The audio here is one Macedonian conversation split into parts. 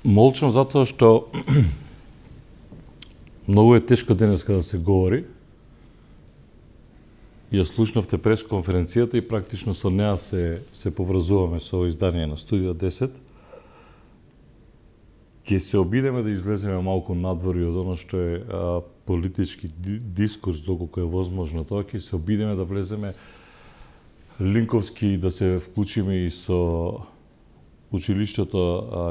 Молчам затоа што многу е тешко денеска да се говори. Ја слушнавте пресконференцијата и практично со неа се поврзуваме со издание на Студио 10. Ќе се обидеме да излеземе малку надвор од оно што е политички дискурс, доколку е возможно тоа, ќе се обидеме да влеземе линковски и да се вклучиме и со училиштето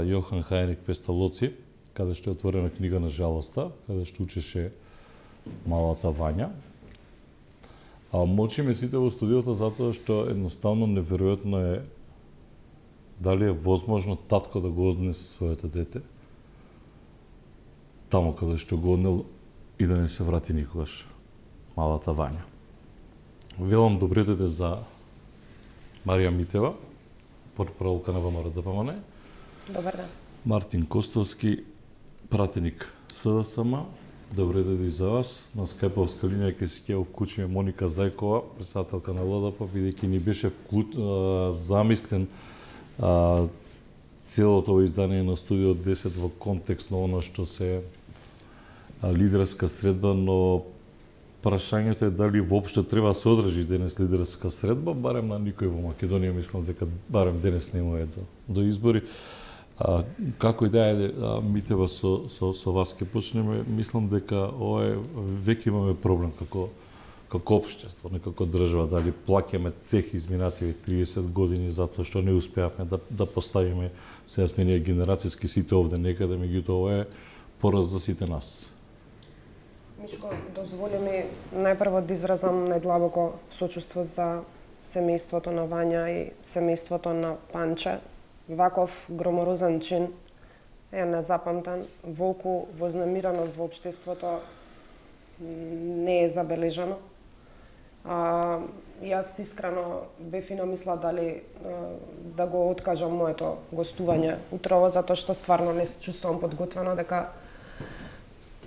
Јохан Хајнрих Песталоци, каде што е отворена книга на жалоста, каде што учеше малата Вања. Молчиме сите во студиото затоа што едноставно неверојатно е дали е возможно татко да го однесе своето дете таму каде што го однел и да не се врати никогаш малата Вања. Велам добре дојде за Марија Митева, портпаролка на ВМРО-ДПМН. Добар ден. Мартин Костовски, пратеник СДСМ. Добре дојде и за вас. На скајповска линија ќе се ќе вклучиме Моника Зајкова, претседателка на ЛДП, бидејќи ни беше замислен целото ово издание на Студио 10 во контекст на оно што се лидерска средба, но прашањето е дали воопшто треба да се одржи денес лидерска средба, барем на никој во Македонија, мислам дека барем денес нема е до избори. Како и да е, Митева, со вас ќе почнеме, мислам дека ова веќе имаме проблем како општество, не како држава, дали плаќаме цех изминативи 30 години затоа што не успеавме да поставиме, сега сме ние генерацијски сите овде некаде, меѓутоа ова е пораз за сите нас. Мишко, дозволи ми најпрво да изразам најдлабоко сочувство за семејството на Вања и семејството на Панче. Ваков громорозен чин е незапамтен. Волку вознемиреност во општеството не е забележано. Јас искрено бев и намисла дали да го откажам моето гостување утрово, затоа што стварно не се чувствувам подготвена дека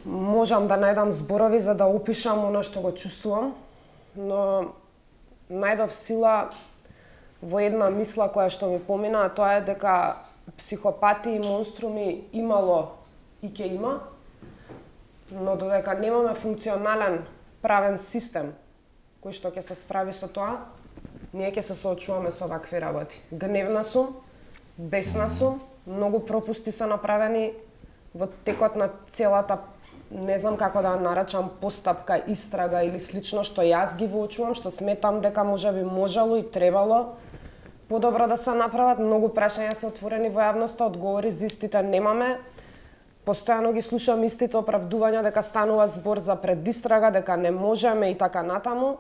можам да најдам зборови за да опишам оно што го чувствувам, но најдов сила во една мисла која што ми помина, а тоа е дека психопати и монструми имало и ќе има, но додека немаме функционален правен систем кој што ќе се справи со тоа, ние ќе се соочуваме со вакви работи. Гневна сум, бесна сум, многу пропусти се направени во текот на целата, не знам како да наречам, постапка, истрага или слично што јас ги воочувам, што сметам дека можеби можело и требало подобро да се направат. Многу прашања се отворени во јавноста, одговори за истите немаме. Постојано ги слушам истите оправдувања дека станува збор за предистрага, дека не можеме и така натаму.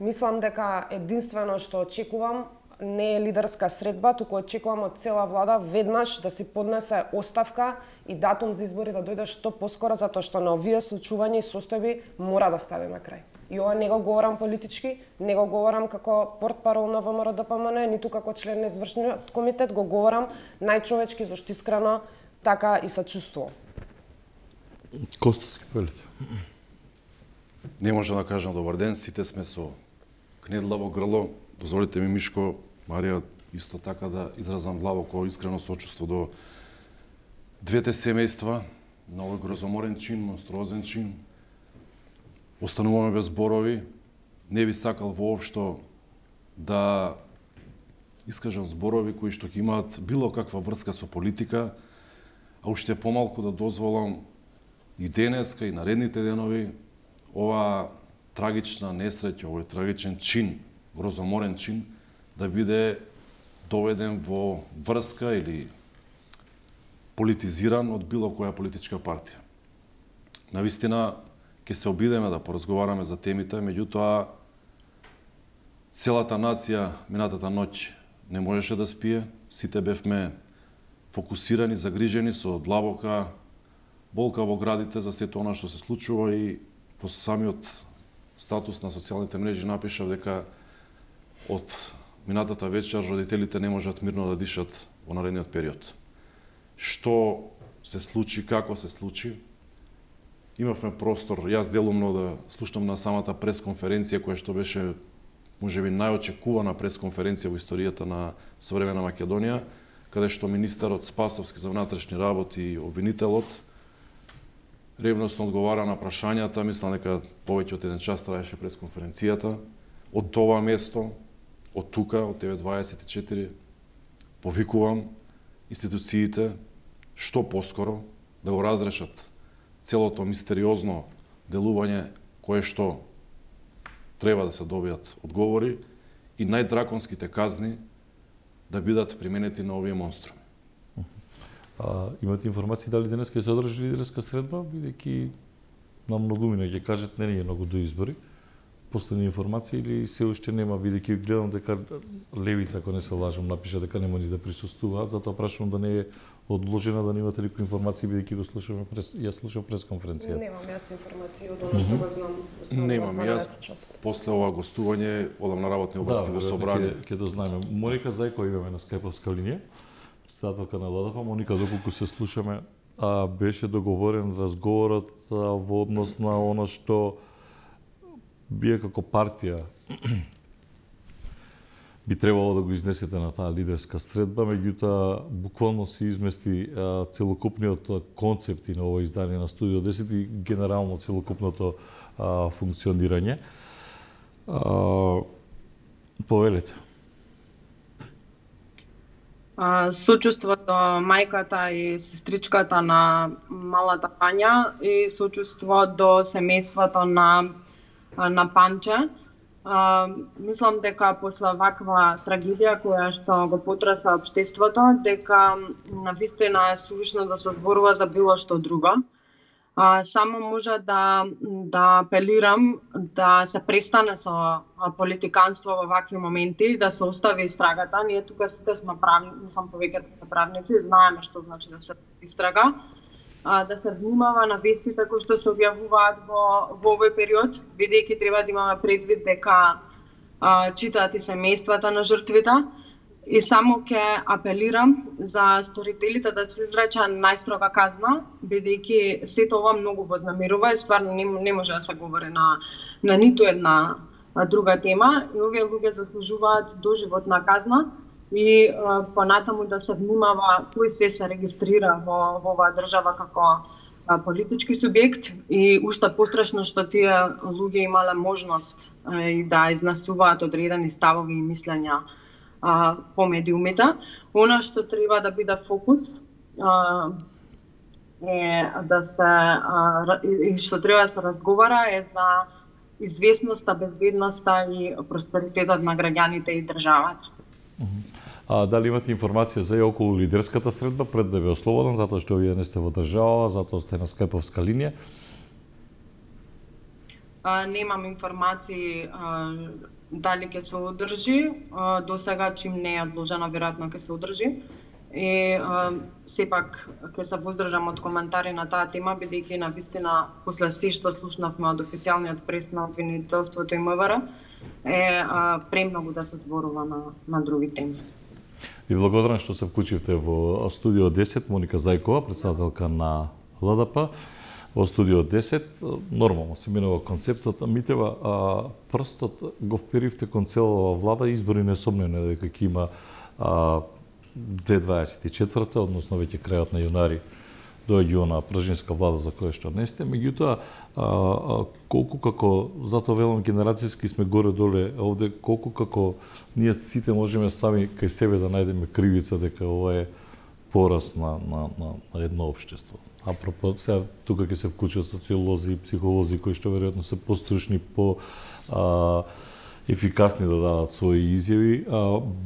Мислам дека единствено што очекувам не е лидерска средба, туку очекувам од цела влада веднаш да си поднесе оставка и датум за избори да дојде што поскоро, затоа што на овие случувања и состојби мора да ставиме крај. И ова не го говорам политички, не го говорам како портпарол на ВМРО-ДПМН, ниту како член на извршниот комитет, го говорам најчовечки, зашто искрено така и се чувствувам. Костовски, велите. Не може да кажам добар ден, сите сме со кнедлаво грло. Дозволите ми, Мишко, Марија, исто така да изразам длабоко искрено сочувство до двете семејства на овој грозоморен чин, монструозен чин. Остануваме без зборови. Не би сакал воопшто да искажам зборови кои што ќе имаат било каква врска со политика, а уште помалку да дозволам и денеска и наредните денови ова трагична несреќа, овој трагичен чин, грозоморен чин, да биде доведен во врска или политизиран од било која политичка партија. Навистина, ќе се обидеме да поразговараме за темите, меѓутоа целата нација минатата ноќ не можеше да спие, сите бевме фокусирани, загрижени со длабока болка во градите за сето она што се случува и по самиот статус на социјалните мрежи напишав дека од минатата вечер родителите не можат мирно да дишат во наредниот период. Што се случи, како се случи, имавме простор, јас делумно да слушнам на самата пресконференција која што беше можеби најочекувана пресконференција во историјата на современа Македонија, каде што министерот Спасовски за внатрешни работи и обвинителот ревносно одговара на прашањата, мислам дека повеќе од 1 час траеше пресконференцијата. Од това место, од тука, од 9:24, повикувам институциите што поскоро да го разрешат целото мистериозно делување кое што треба да се добијат одговори и најдраконските казни да бидат применети на овие монструми. Имате информации дали денес ќе се одржи лидерска средба, бидејќи на многумина ќе кажат не е многу до избори. Последни информации или се уште нема, бидејќи гледам дека Левица, ако не се лажам, напиша дека нема ни да присуствуваат, затоа прашувам да не е одложена, да немате никои информации, бидејќи го слушаме ја слушам пресконференцијата. Немам јас информации од она што го знам. Немам јас. После ова гостување одам на работни обврски во собрание. Ќе дознаеме. Моника Зајкова имаме на скајповска линија, председателка на ЛДП. Моника, доколку се слушаме, беше договорен разговорот во однос на она што вие како партија би требало да го изнесете на таа лидерска средба, меѓутоа буквално се измести целокупниот концепт на ова издание на Студио 10 и генерално целокупното функционирање. Повелете. Сочувството мајката и сестричката на малата Пања и сочувство до семејството на Панче. Мислам дека после ваква трагедија која што го потреса општеството, дека навистина е сувишно да се зборува за било што друго. Само може да апелирам да се престане со политиканство во вакви моменти, да се остави истрагата. Ние тука сите сме повеќето правници, знаеме што значи да се истрага. Да се внимава на вестите кои што се објавуваат во овој период, бидејќи треба да имаме предвид дека читаат и семејствата на жртвите. И само ќе апелирам за сторителите да се изрече најстрога казна, бидејќи сето ова многу вознамирува и стварно не може да се говори на ниту една друга тема. И овие луѓе заслужуваат доживотна казна и понатаму да се внимава кој се регистрира во оваа држава како политички субјект и уште пострашно што тие луѓе имале можност и да изнесуваат одредени ставови и мислења по медиумите. Она што треба да биде фокус е да се и што треба да се разговара е за известноста, безбедноста и просперитетот на граѓаните и државата. Дали имате информација за и околу лидерската средба пред да ве ослободам, затоа што вие не сте во држава, затоа сте на скајповска линија? Немам информации дали ќе се одржи. До сега, чим не е одложено, веројатно ќе се одржи. И сепак ќе се воздржам од коментари на таа тема, бидејќи навистина после се што слушнавме од официјалниот прес на обвинителството и МВР е премногу да се зборува на други теми. Ви благодарам што се вклучивте во Студио 10, Моника Зајкова, председателка на ЛДП. Во Студио 10, нормално се минува концептот, Митева, прстот го вперивте кон целава влада, избори несомнено дека ќе има 2024, односно веќе крајот на јунари доаѓа на пржинска влада за која што не сте, меѓутоа колку како, затоа велам генерацијски сме горе-доле овде, колку како ние сите можеме сами кај себе да најдеме кривица дека ова е пораз на едно општество. Апропо, сега тука ќе се вклучат социолози и психолози кои што веројатно се постручни, ефикасни да дадат своји изјави,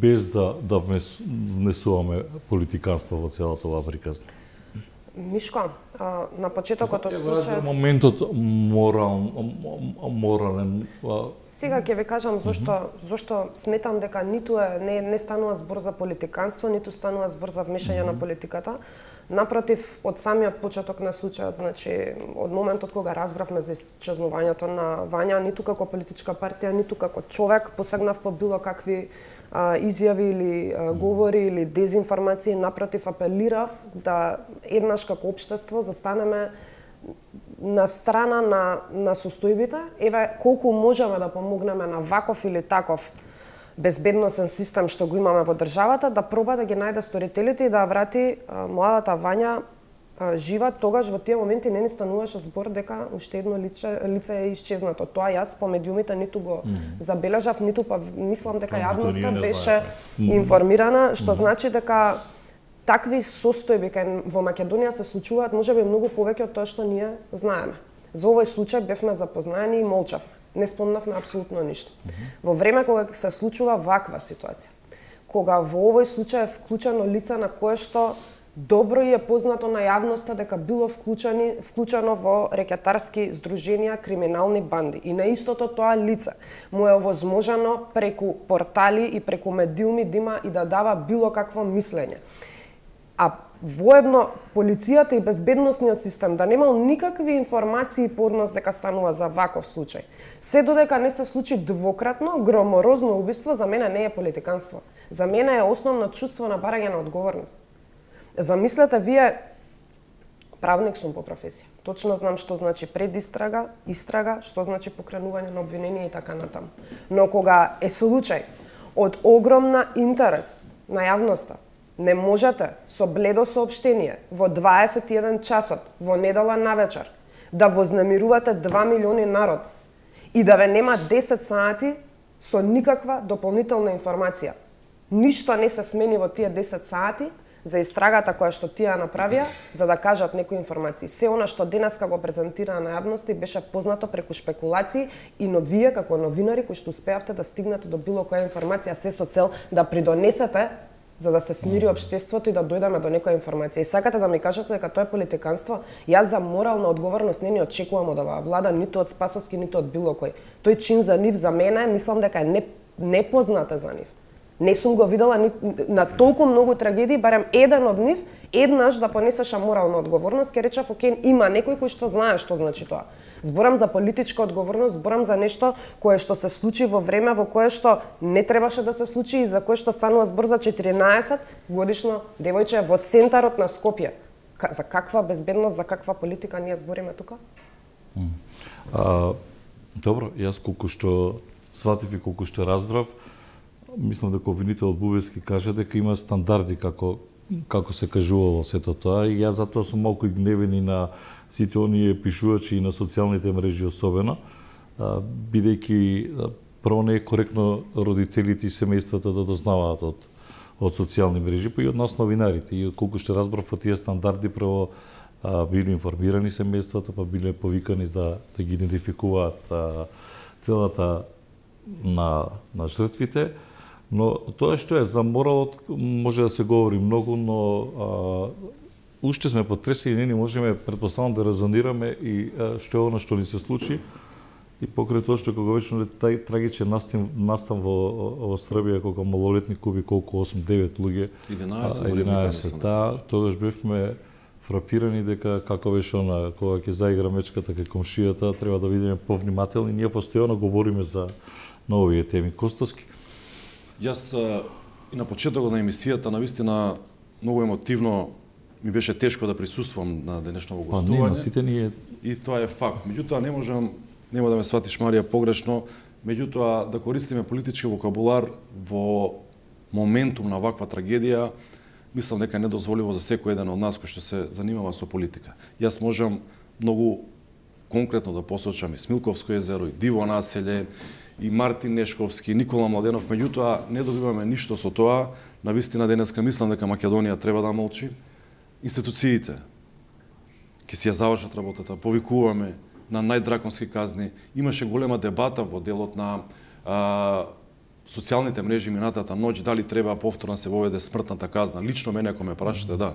без да внесуваме политиканство во целата оваа приказна. Мишко, на почетокот од случајот... моментот морален... Сега ќе ви кажам зошто сметам дека ниту не станува збор за политиканство, ниту станува збор за вмешање на политиката. Напротив, од самиот почеток на случајот, значи од моментот кога разбравме за исчезнувањето на Вања, ниту како политичка партија, ниту како човек посегнав по било какви изјави или говори или дезинформации, напротив апелирав да еднаш како општество застанеме на страна на состојбите, еве колку можеме да помогнеме на ваков или таков безбедносен систем што го имаме во државата, да проба да ги најде сторителите и да врати младата Вања жива. Тогаш во тие моменти не ни стануваше збор дека уште едно лице е исчезнато. Тоа јас по медиумите ниту го забележав, ниту па мислам дека јавноста беше информирана, што значи дека такви состојби во Македонија се случуваат можеби многу повеќе од тоа што ние знаеме. За овој случај бевме запознаени и молчавме. Не спомнавме апсолутно ништо. Во време кога се случува ваква ситуација, кога во овој случај е вклучено лице на кое што добро и е познато на јавноста дека било вклучено во рекетарски здруженија, криминални банди. И на истото тоа лице му е овозможено преку портали и преку медиуми да има и да дава било какво мислење. А воедно полицијата и безбедносниот систем да немал никакви информации по однос дека станува за ваков случај. Се додека не се случи двократно громорозно убиство, за мене не е политиканство. За мене е основно чувство на барање на одговорност. Замислете, вие, правник сум по професија. Точно знам што значи предистрага, истрага, што значи покренување на обвинение и така натаму. Но кога е случај од огромна интерес на јавноста, не можете со бледо соопштение во 21 часот во недела навечер да вознемирувате 2 милиони народ и да ве нема 10 сати со никаква дополнителна информација. Ништо не се смени во тие 10 сати за истрагата која што тие направија, за да кажат некои информации. Се она што денеска го презентираа на јавноста и беше познато преку шпекулации, и но вие како новинари кои што успеавте да стигнете до било која информација, се со цел да придонесете за да се смири општеството и да дојдеме до некоја информација. И сакате да ми кажете дека тоа е политиканство? Јас за морална одговорност не ни очекувам од оваа влада, ниту од Спасовски, ниту од било кој. Тој чин за нив, за мене, мислам дека е непозната за нив. Не сум го видела на толку многу трагедии, барем еден од нив, еднаш да понесеше морална одговорност, ке речев, окей, има некој кој што знае што значи тоа. Зборам за политичка одговорност, зборам за нешто кое што се случи во време во кое што не требаше да се случи и за кое што станува збор за 14 годишно девојче во центарот на Скопје. За каква безбедност, за каква политика ние збориме тука? Добро, јас колку што сватив и колку што разбрав, мислам дека обвинителот Бубевски каже дека има стандарди како се кажувало сето тоа, и јас затоа сум малку и гневен и на сите оние пишувачи и на социјалните мрежи особено, бидејќи прво не е коректно родителите и семејствата да дознаваат од социјални мрежи, па и од нас новинарите. И колку што разбрав од тие стандарди, прво биле информирани семејствата, па биле повикани за да ги идентификуваат телата на жртвите. Но тоа што е за моралот може да се говори многу, но уште сме потресени и не можеме претпоставам да резонираме и што е она што ни се случи, и покрај тоа што кога вечно тај трагичен настан во Србија кога малолетник уби колку 8-9 луѓе, 11, тогаш бевме фрапирани дека како беше она кога ќе заигра мечката кај комшијата, треба да бидеме повнимателни. Ние постојано говориме за овие теми. Костовски, јас и на почетокот на емисијата навистина многу емотивно ми беше тешко да присуствувам на денешното гостување. Па не, сите ние... И тоа е факт. Меѓутоа нема да ме сватиш, Марија, погрешно, меѓутоа да користиме политички вокабулар во моментум на ваква трагедија, мислам дека е недозволиво за секој еден од нас кој што се занимава со политика. Јас можам многу конкретно да посочам и Смилковско езеро, и Диво населе, и Мартин Нешковски, Никола Младенов, меѓутоа не добиваме ништо со тоа. Навистина денеска мислам дека Македонија треба да молчи. Институциите ќе си ја завршат работата, повикуваме на најдраконски казни. Имаше голема дебата во делот на социјалните мрежи минатата ноќ дали треба повторно се воведе смртната казна. Лично мене ако ме прашате, да.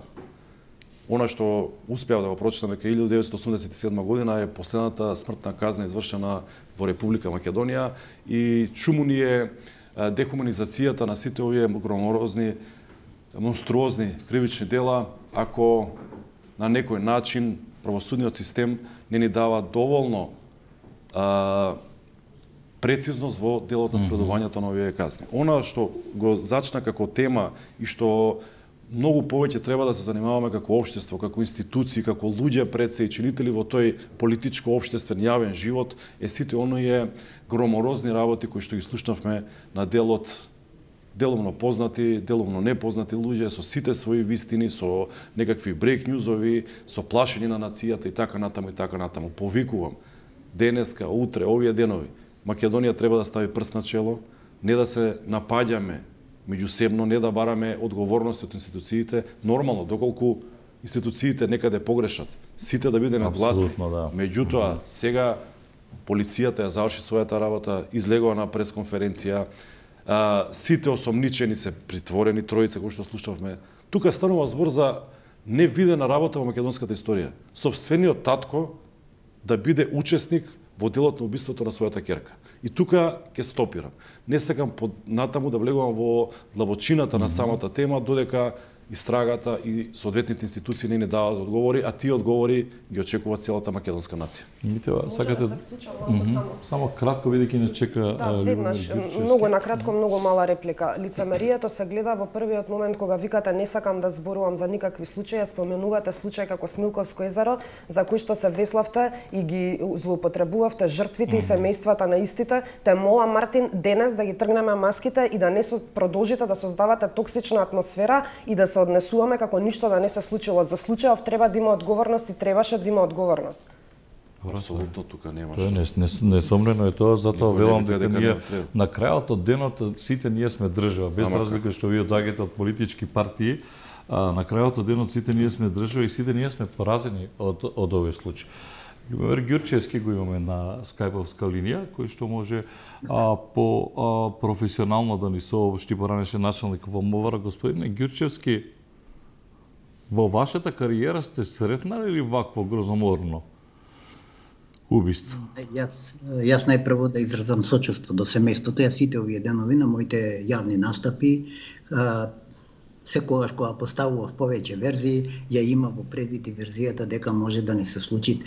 Она што успеав да го прочитам дека 1987 година е последната смртна казна извршена во Република Македонија, и чуму ни е дехуманизацијата на сите овие громорозни, монструозни кривични дела, ако на некој начин правосудниот систем не ни дава доволно прецизност во делот на спредувањето на овие казни. Она што го зачна како тема и што многу повеќе треба да се занимаваме како општество, како институции, како луѓе пред се и чинители во тој политичко општествен јавен живот, сите оние громорозни работи кои што ги слушнавме на делумно познати, делумно непознати луѓе со сите своји вистини, со некакви брейк њузови, со плашење на нацијата и така натаму и така натаму. Повикувам денеска, утре, овие денови, Македонија треба да стави прст на чело, не да се напаѓаме меѓусебно, не да бараме одговорности од институциите, нормално, доколку институциите некаде погрешат, сите да бидеме гласни. Да. Меѓутоа, сега полицијата ја заврши својата работа, излегува на пресконференција, сите осомничени се притворени, тројца кои што слушавме. Тука станува збор за невидена работа во македонската историја. Сопствениот татко да биде учесник во делот на убиството на својата ќерка. И тука ќе стопирам. Не сакам натаму да влегувам во длабочината на самата тема, додека истрагата и соодветните институции не даваат одговори, а тие одговори ги очекува целата македонска нација. Митева, сакате само кратко бидејќи не чека веднаш, многу накратко, многу мала реплика. Лицемерието се гледа во првиот момент кога викате не сакам да зборувам за никакви случаи, споменувате случај како Смилковско езеро, за кој што се веславте и ги злоупотребувавте жртвите и семејствата на истите. Те молам, Мартин, денес да ги тргнеме маските и да не продолжите да создавате токсична атмосфера и да се однесуваме како ништо да не се случило. За случајов треба да има одговорност и требаше да има одговорност. Апсолутно тука немаше. Тоа несомнено е тоа, затоа велам дека ние на крајот од денот сите ние сме држава, без разлика што вие доаѓате од политички партии, на крајот од денот сите ние сме држава и сите ние сме поразени од овој случај. Љубомир Ѓурчевски го имаме на скајповска линија, кој што може професионално да ни соопшти, поранеше началник во МВР. Господине Ѓурчевски, во вашата кариера сте сретнали ли вакво грозоморно убиство? Јас најпрво да изразам сочувство до семејството. Јас сите овие денови на моите јавни настапи, секогаш кога поставував повеќе верзии, ја има во предвид и верзијата дека може да не се случи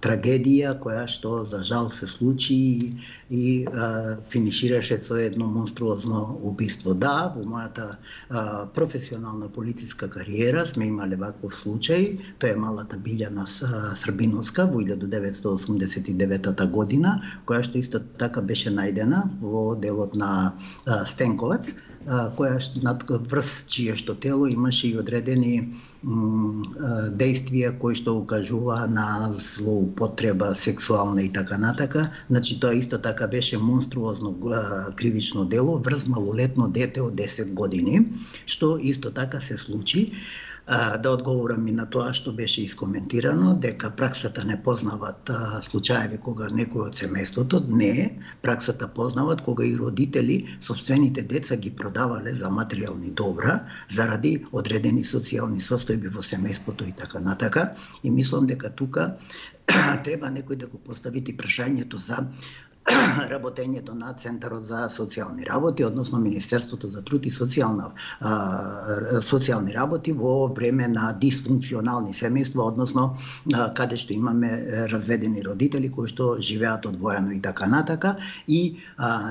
трагедија која што за жал се случи и финишираше со едно монструозно убиство. Да, во мојата професионална полициска кариера сме имале ваков случај. Тоа е малата Билјана Србиновска во 1989 година, која што исто така беше најдена во делот на Стенковац, која врз чие што тело имаше и одредени действија кои што укажува на злоупотреба сексуална и така натака. Значи тоа исто така беше монструозно кривично дело врз малолетно дете од 10 години, што исто така се случи. Да одговорам и на тоа што беше искоментирано, дека праксата не познават случаеви кога некој од семејството, не, праксата познават кога и родители собствените деца ги продавале за материјални добра заради одредени социјални состојби во семејството и така натака. И мислам дека тука треба некој да го постави прашањето за работењето на Центарот за социјални работи, односно Министерството за труд и социјални работи во време на дисфункционални семејства, односно каде што имаме разведени родители кои што живеат одвоено и така натака, и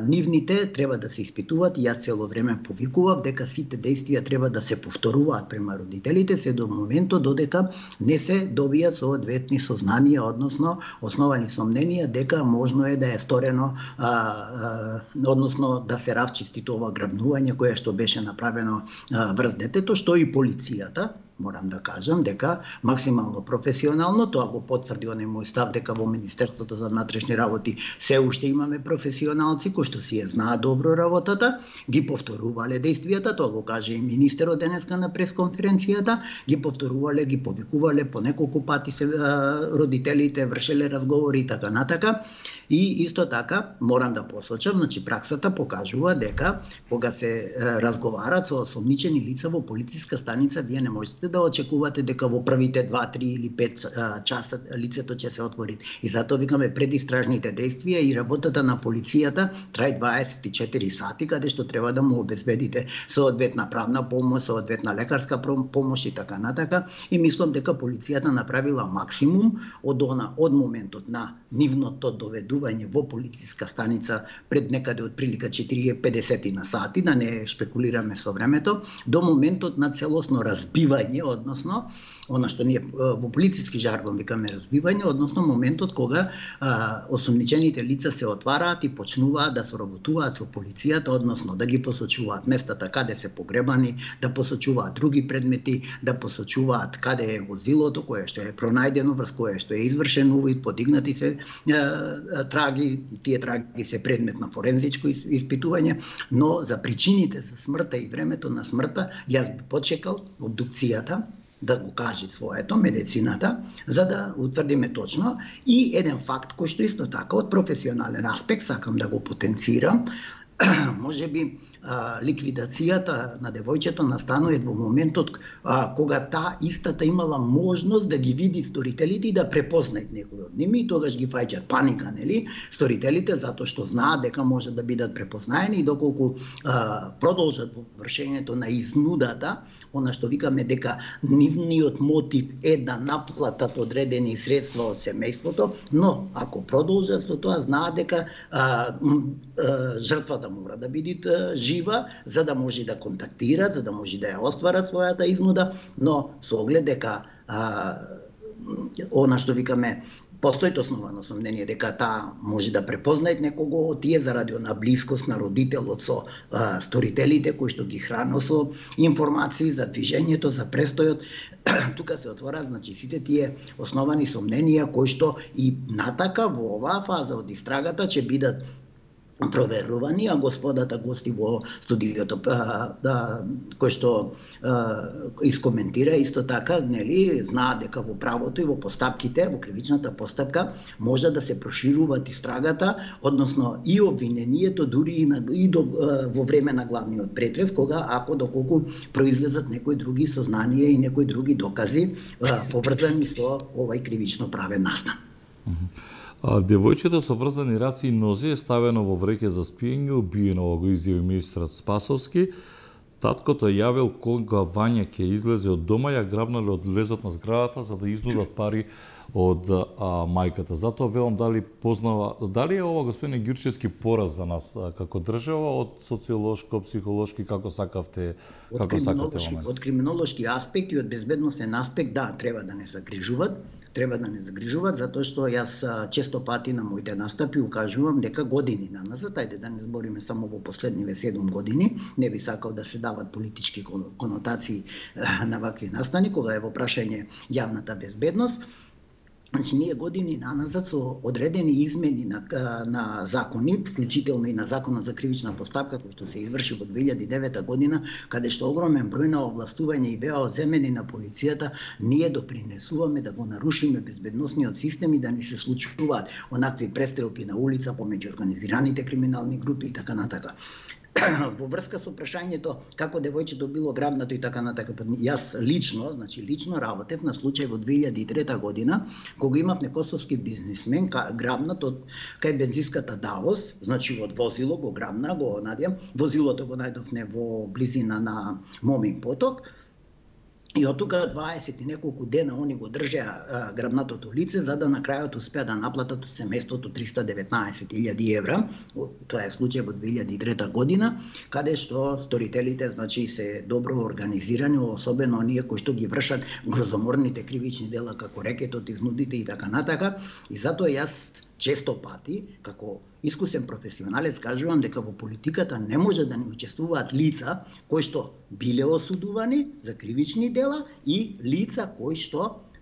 нивните треба да се испитуваат. Јас цело време повикував дека сите действија треба да се повторуваат према родителите се до моментот додека не се добија соодветни сознанија, односно основани сомненија дека можно е да е односно да се равчисти тоа грабнување кое што беше направено врз детето, што и полицијата, морам да кажам, дека максимално професионално, тоа го потврди оној мој став дека во Министерството за внатрешни работи се уште имаме професионалци кои што си ја знаат добро работата, ги повторувале действијата, тоа го каже и министерот денеска на пресконференцијата, ги повторувале, ги повикувале по неколку пати се родителите, вршеле разговори и така натака. И исто така морам да посочам, значи праксата покажува дека кога се разговарат со осомничени лица во полициска станица, вие не можете можете да очекувате дека во првите 2, 3 или 5 часа лицето ќе се отвори. И затоа викаме предистражните действија и работата на полицијата трае 24 сати, каде што треба да му обезбедите соодветна правна помош, соодветна лекарска помош и така натака. И мислам дека полицијата направила максимум од моментот на нивното доведување во полициска станица пред некаде од прилика 40-50 на сати, да не шпекулираме со времето, до моментот на целосно разбивање, односно, она што ние во полициски жаргон викаме разбивање, односно моментот кога осомничените лица се отвараат и почнуваат да соработуваат со полицијата, односно да ги посочуваат местата каде се погребани, да посочуваат други предмети, да посочуваат каде е возилото кое што е пронајдено, врз кое што е извршен увид, подигнати се траги, тие траги се предмет на форензичко испитување, но за причините за смртта и времето на смртта јас би почекал обдукцијата да го каже своето, медицината, за да утврдиме точно. И еден факт кој што исто така од професионален аспект сакам да го потенцирам, може би ликвидацијата на девојчето настанува во моментот кога таа истата имала можност да ги види сторителите и да препознаат некој од ними, и тогаш ги фаќаат паника, нели, сторителите, затоа што знаат дека може да бидат препознаени, и доколку продолжат во вршењето на изнудата, она што викаме дека нивниот мотив е да наплатат одредени средства од семејството, но ако продолжат со тоа, знаат дека жртвата мора да биде жива, за да може да контактираат, за да може да ја остварат својата изнуда, но со оглед дека она што викаме постои основано сомнение дека таа може да препознаат некого од тие заради она блискост на родителот со сторителите кои што ги храно со информации за движењето, за престојот. Тука се отвора, значи, сите тие основани сомненија кои што и натака во оваа фаза од истрагата ќе бидат проверувани, а господата гости во студиото кој што искоментира исто така, нели, знаат дека во правото и во постапките, во кривичната постапка може да се прошируваат истрагата, односно и обвинението дури и во време на главниот претрес, кога ако доколку произлезат некои други сознанија и некои други докази поврзани со овај кривично правен настан. Девојчето со врзани раци и нозе е ставено во вреќе за спиење, убиено, го изјави министрот Спасовски. Таткото јавил кога Вања ќе излезе од дома, ја грабнале од лезот на зградата за да изнудат пари од мајката. Затоа велам дали познава, дали е ова господин Ѓурчевски пораз за нас како држава од социолошко, психолошки, како сакавте, како сакате момент? Од криминолошки аспект и од безбедносен аспект, да, треба да не загрижуваат, затоа што јас често пати на моите настапи укажувам дека години наназад, ајде да не збориме само во последниве 7 години, не би сакал да се дават политички конотации на вакви настани, кога е во прашање јавната безбедност. Значи, ние години наназад со одредени измени на закони, вклучително и на Законот за кривична постапка, кој што се изврши во 2009 година, каде што огромен број на овластување и беа одземени на полицијата, ние допринесуваме да го нарушиме безбедносниот систем и да ни се случуваат онакви престрелки на улица помеѓу организираните криминални групи и така натака. Во врска со прашањето како девојчето било грабнато и така натака, јас лично работев на случај во 2003 година, кога имав некосовски бизнисмен грабнат од кај бензинската Давос, значи од возило го грабна, го надјам, возилото го најдовне во близина на Момин поток. И од тука 20 и неколку дена они го држеа грабнатото лице, за да на крајот успеа да наплатат од семејството 319.000 евра. Тоа е случај во 2003 година, каде што сторителите, значи, се добро организирани, особено оние кои што ги вршат грозоморните кривични дела како рекетот, изнудите и така натака. И затоа јас често пати, како искусен професионалец, кажувам дека во политиката не може да не учествуваат лица кои што биле осудувани за кривични дела и лица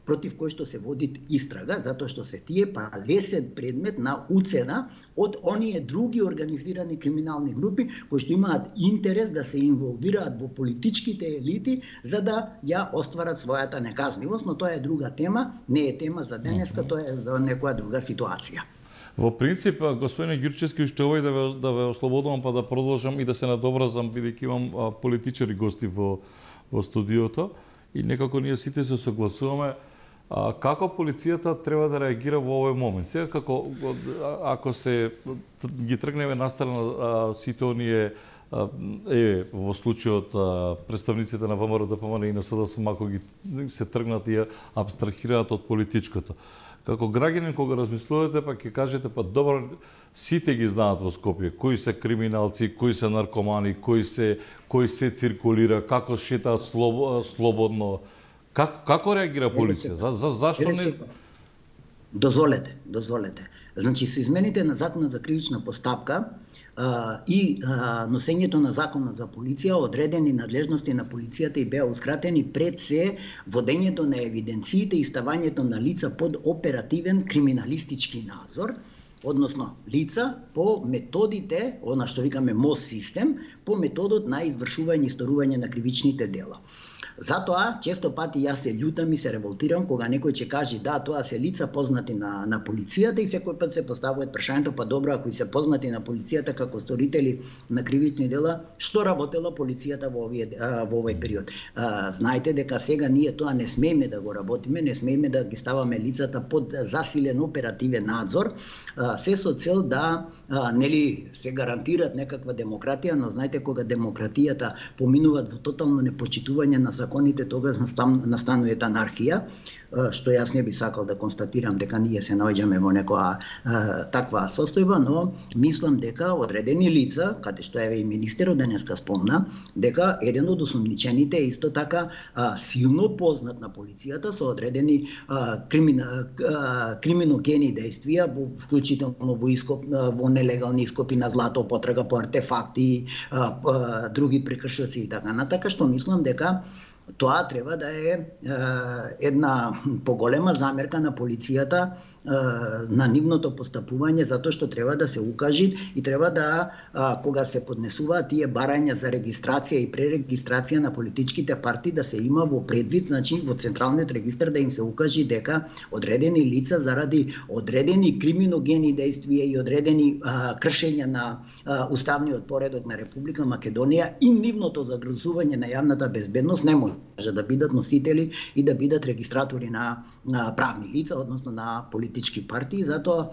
против кои што се води истрага, затоа што се тие лесен предмет на уцена од оние други организирани криминални групи кои што имаат интерес да се инволвираат во политичките елити за да ја остварат својата неказнивост, но тоа е друга тема, не е тема за денеска, тоа е за некоја друга ситуација. Во принцип, господине Ѓурчевски, уште овој да ве ослободувам па да продолжам и да се надобразам, бидејќи имам политичари гости во студиото. и некако ние сите се согласуваме како полицијата треба да реагира во овој момент. Сега ако се ги тргнеме настрана сите оние во случајот представниците на ВМРО ДПМН и на СДСМ, ако ги се тргнат и абстрахираат од политичкото. Како граѓанин кога размислувате, па ќе кажете, па добро, сите ги знаат во Скопје кои се криминалци, кои се наркомани, кои се циркулира, како шетаат слободно. Како реагира полиција? Зашто не? Дозволете. Значи, со измените на Законот за кривична постапка и носењето на Законот за полиција, одредени надлежности на полицијата и беа ускратени пред се водењето на евиденциите и ставањето на лица под оперативен криминалистички надзор, односно лица по методите, она што викаме МОС систем, по методот на извршување и сторување на кривичните дела. Затоа, често пати јас се љутам и се револтирам кога некој ќе каже да, тоа се лица познати на полицијата и секој пат се поставуваат прашањето, па добро, ако се познати на полицијата како сторители на кривични дела, што работела полицијата во овој период? Знаете дека сега ние тоа не смееме да го работиме, не смееме да ги ставаме лицата под засилен оперативен надзор, се со цел да нели се гарантираат некаква демократија, но знаете кога демократијата поминуваат во тотално непочитување на законите, тогаш настанува анархија, што јас не би сакал да констатирам дека ние се наоѓаме во некоја таква состојба, но мислам дека одредени лица, каде што еве и министерот денеска спомна, дека еден од осомничените е исто така силно познат на полицијата со одредени криминогени действија, вклучително во нелегални ископи на злато, потрага по артефакти, други прекршоци и така натака, што мислам дека тоа треба да е една поголема замерка на полицијата на нивното постапување, затоа што треба да се укажи и треба да, кога се поднесуваат тие барања за регистрација и пререгистрација на политичките партии, да се има во предвид, значи во централниот регистар да им се укажи дека одредени лица заради одредени криминогени действија и одредени кршења на уставниот поредок на Република Македонија и нивното загрозување на јавната безбедност не може да бидат носители и да бидат регистратори на правни лица, односно на политички партии. Затоа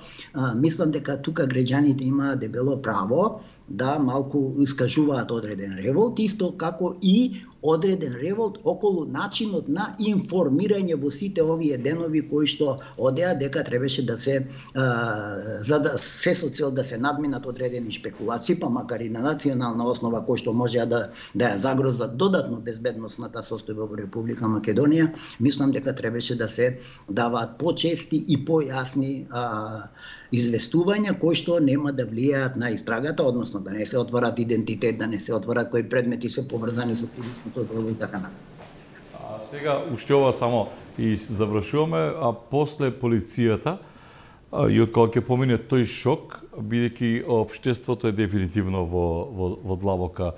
мислам дека тука граѓаните имаат дебело право да малку искажуваат одреден револт, исто како и одреден револт околу начинот на информирање во сите овие денови кои што одеа, дека требаше да се за да се со цел да се надминат одредени шпекулации, па макар и на национална основа кои што може да ја загрозат додатно безбедносната состојба во Република Македонија, мислам дека требаше да се даваат почести и појасни известувања кои што нема да влијаат на истрагата, односно да не се отварат идентитет, да не се отварат кои предмети се поврзани со кривичното дело и така натаму. Сега уште ова само и завршуваме, а после полицијата и од кога ќе помине тој шок, бидејќи општеството е дефинитивно во длабока